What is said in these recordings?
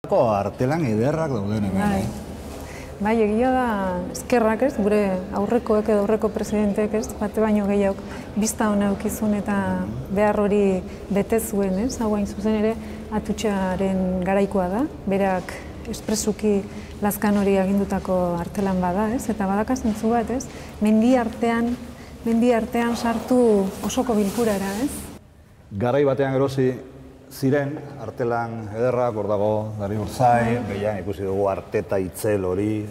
Artelan ederrak dauden hemen. Bai, egia da eskerrak ez, gure aurrekoek edo aurreko presidenteek ez, bate baino gehiago bizta hona eukizun eta behar hori bete zuen ez, hau hain zuzen ere atutxaren garaikoa da, berak espresuki lazkan hori agindutako artelan bada ez, eta badaka zentzu bat ez, mendi artean sartu osoko bilkurara ez. Garai batean erosi ziren, artelan ederrak, hor dago, Dari Urzai, behian ikusi dugu Arteta Itzel hori,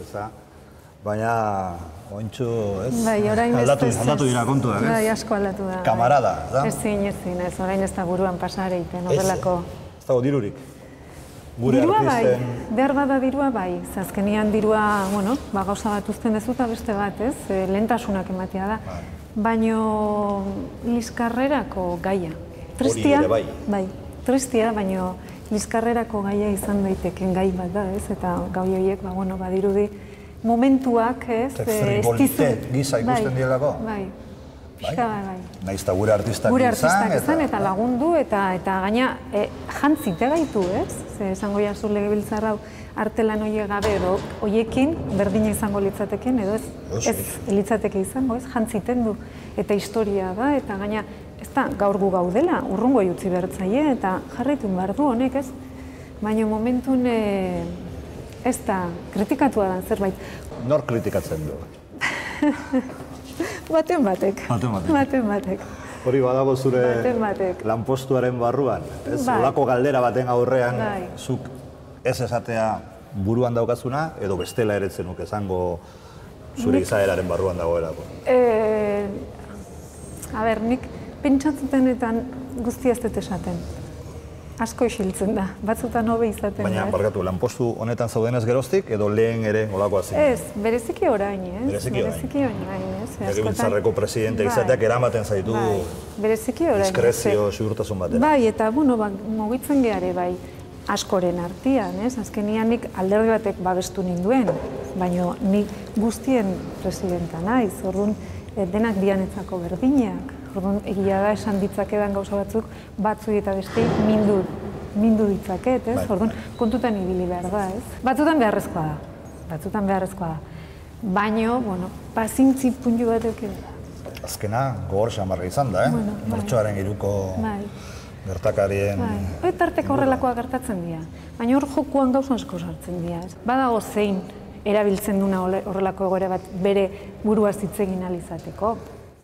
baina ointxu, ez? Bai, orain aldatu dira kontuak, ez? Bai, asko aldatu da. Kamarada, ez? Ezin, ez, orain ez da buruan pasare iten, horrelako. Ez dago dirurik? Dirua bai, behar bada dirua bai, azkenian dirua, bueno, gauza bat uzten dezu eta beste bat, ez? Lehentasunak ematea da. Baino liskarrerako gaia. Tristia, bai, tristia, baino liskarrerako gaia izan daiteken gai bat da, ez? Eta gai horiek, bueno, badirudi momentuak, ez? Frivolitet gisa ikusten dielako? Bai, pixka bai. Naiz eta gure artistak izan, eta lagundu, eta gaina jantzite gaitu, ez? Ze esango jazu legebiltzar hau artelan horiek gabe edo horiekin berdina izango litzateken, edo ez litzateke izango, ez? Jantziten du, eta historia da, eta gaina ez da gaur gu gaudela, urrungo jutzi bertzaile, eta jarraitu behar du honek, ez? Baina momentun ez da kritikatua da zerbait. Nor kritikatzen du? Baten batek. Hori badago zure lanpostuaren barruan, ez? Olako galdera baten aurrean, zuk ez esatea buruan daukazuna, edo bestela ere zenuk esango zure izaeraren barruan dagoelako? Nik pentsatzetenetan guztia ez dut esaten. Asko isiltzen da, batzutan hobe izaten da. Baina, barkatu, lanpostu honetan zaudenez geroztik, edo lehen ere olakoa zen? Ez, bereziki orain, ez? Bereziki orain, ez? Legebiltzarreko presidente izateak eramaten zaitu diskrezio, segurtasun batean. Bai, eta, bueno, mugitzen geare, bai, askoren artean, ez? Azkenian nik alderdi batek babestu ninduen, baina nik guztien presidenta naiz, orduan denak dianetzako berdinak. Orduan, egia da esan ditzakedan gauza batzuk, batzu eta beste mindu ditzaket, ez? Orduan, kontutan ibili behar da, ez? Batzutan beharrezkoa da. Baina, bueno, pazintzi puntu bat euken. Azkena, gogor xamarra izan da, Martxoaren 3ko gertakarien... Eta arteko horrelakoa gertatzen dira. Baina hor jokuan gauza asko sartzen dira, ez? Badago zein erabiltzen duna horrelako egoera bat bere buruaz hitz egin ahal izateko.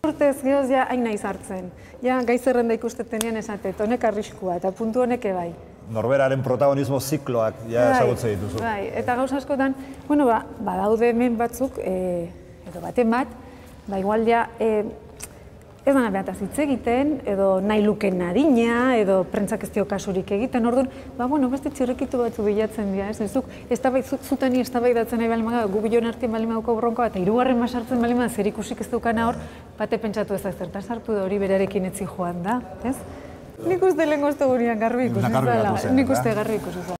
Urtez gehoz ja hain naiz hartzen. Ja, gai zerrenda ikustetenean esatet, honek arriskua eta puntu honek bai. Norberaren protagonismo zikloak ja ezagutzen dituzu. Bai, eta gauza askotan, bueno, badaude hemen batzuk, edo baten bat, igual ja, ez dana behataz hitz egiten, edo nahi luken adina, edo prentsak ez dio kasurik egiten, orduan, bueno, beste txirrikitu batzu bilatzen dira, ez zutani eztabaidatzen nahi balima, gu biloen artien balima duko bronkoa, eta hirugarren basartzen balima, zer ikusik ez dukana hor, bate pentsatu ez zertan sartu da hori berarekin etzi joan da, ez? Nik uste lehen goztu gurean garbi ikusi zela, nik uste garbi ikusi zela.